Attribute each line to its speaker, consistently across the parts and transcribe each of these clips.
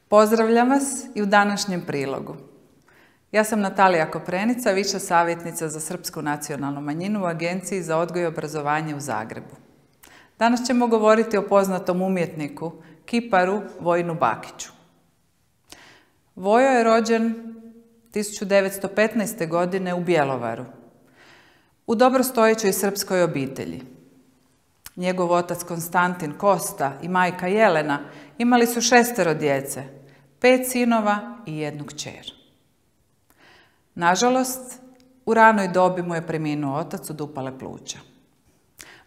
Speaker 1: Pozdravljam vas i u današnjem prilogu. Ja sam Natalija Koprenica, viša savjetnica za srpsku nacionalnu manjinu u Agenciji za odgoj i obrazovanje u Zagrebu. Danas ćemo govoriti o poznatom umjetniku, kiparu Vojinu Bakiću. Vojo je rođen 1915. godine u Bjelovaru, u dobrostojećoj srpskoj obitelji. Njegov otac Konstantin Kosta i majka Jelena imali su 6 djece, 5 sinova i 1 kćer. Nažalost, u ranoj dobi mu je preminuo otac od upale pluća.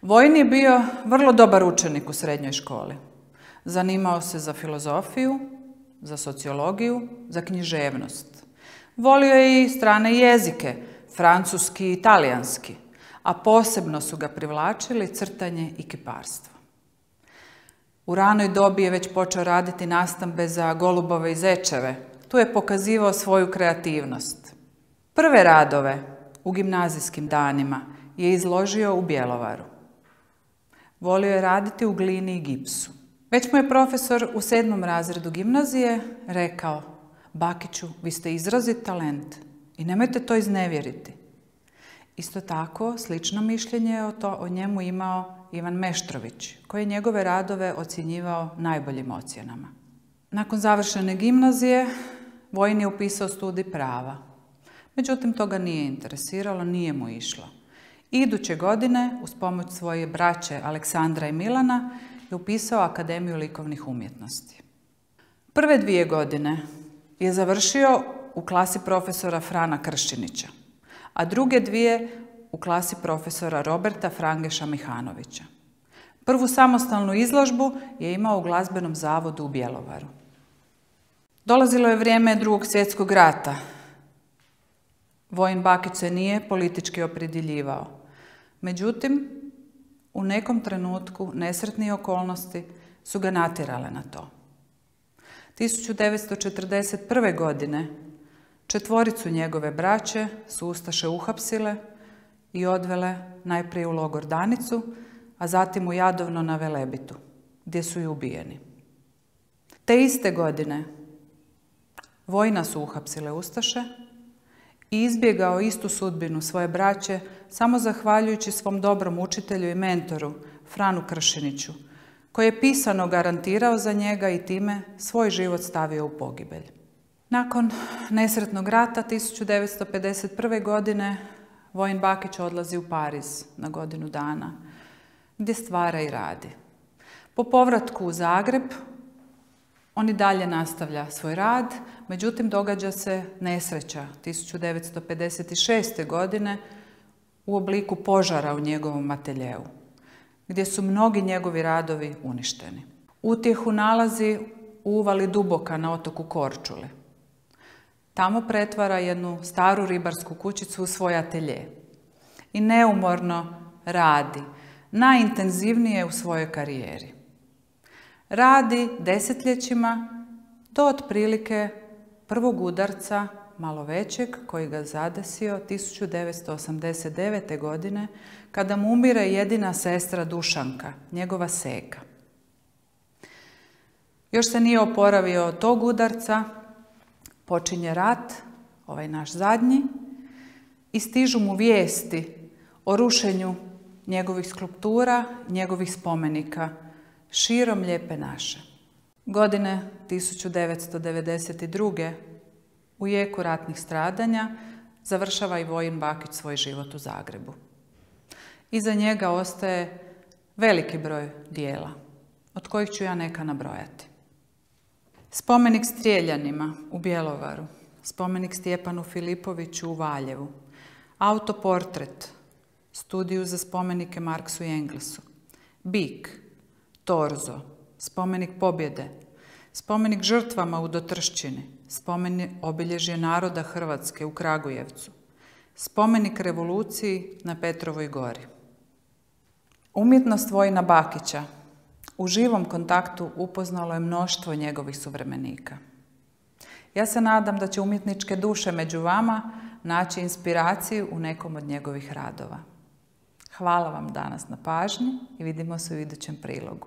Speaker 1: Vojin je bio vrlo dobar učenik u srednjoj školi. Zanimao se za filozofiju, za sociologiju, za književnost. Volio je i strane jezike, francuski i talijanski, a posebno su ga privlačili crtanje i kiparstvo. U ranoj dobi je već počeo raditi nastambe za golubove i zečeve. Tu je pokazivao svoju kreativnost. Prve radove u gimnazijskim danima je izložio u Bjelovaru. Volio je raditi u glini i gipsu. Već mu je profesor u 7. razredu gimnazije rekao: "Bakiću, vi ste izrazit talent i nemojte to iznevjeriti." Isto tako, slično mišljenje je o njemu imao Ivan Meštrović, koji je njegove radove ocjenjivao najboljim ocjenama. Nakon završene gimnazije, Vojin je upisao studij prava. Međutim, to ga nije interesiralo, nije mu išlo. Iduće godine, uz pomoć svoje braće Aleksandra i Milana, je upisao Akademiju likovnih umjetnosti. Prve 2 godine je završio u klasi profesora Frana Kršinića, a druge 2 u klasi profesora Roberta Frangeša Mihanovića. Prvu samostalnu izložbu je imao u Glazbenom zavodu u Bjelovaru. Dolazilo je vrijeme Drugog svjetskog rata. Vojin Bakić se nije politički opredjeljivao. Međutim, u nekom trenutku nesretne okolnosti su ga natjerale na to. 1941. godine 4 njegove braće su ustaše uhapsile i odvele najprije u logor Danicu, a zatim u Jadovno na Velebitu, gdje su i ubijeni. Te iste godine Vojina su uhapsile ustaše i izbjegao istu sudbinu svoje braće samo zahvaljujući svom dobrom učitelju i mentoru Franu Kršiniću, koji je pisano garantirao za njega i time svoj život stavio u pogibelj. Nakon nesretnog rata 1951. godine Vojin Bakić odlazi u Pariz na godinu dana, gdje stvara i radi. Po povratku u Zagreb on i dalje nastavlja svoj rad, međutim događa se nesreća 1956. godine u obliku požara u njegovom ateljeu, gdje su mnogi njegovi radovi uništeni. Utjehu nalazi u uvali Duboka na otoku Korčuli. Tamo pretvara jednu staru ribarsku kućicu u svoj atelje i neumorno radi, najintenzivnije u svojoj karijeri. Radi desetljećima do otprilike prvog udarca, malo većeg, koji ga zadesio 1989. godine, kada mu umire jedina sestra Dušanka, njegova seka. Još se nije oporavio od tog udarca, počinje rat, ovaj naš zadnji, i stižu mu vijesti o rušenju njegovih skulptura, njegovih spomenika širom Lijepe naše. Godine 1992. u jeku ratnih stradanja završava i Vojin Bakić svoj život u Zagrebu. Iza njega ostaje veliki broj dijela, od kojih ću ja neka nabrojati. Spomenik Strijeljanima u Bjelovaru, spomenik Stjepanu Filipoviću u Valjevu, autoportret, studiju za spomenike Marksu i Englesu, Bik, Torzo, spomenik pobjede, spomenik žrtvama u Dotrščini, spomenik obilježje naroda Hrvatske u Kragujevcu, spomenik revoluciji na Petrovoj gori. Umjetnost Vojina Bakića u živom kontaktu upoznalo je mnoštvo njegovih suvremenika. Ja se nadam da će umjetničke duše među vama naći inspiraciju u nekom od njegovih radova. Hvala vam danas na pažnji i vidimo se u idućem prilogu.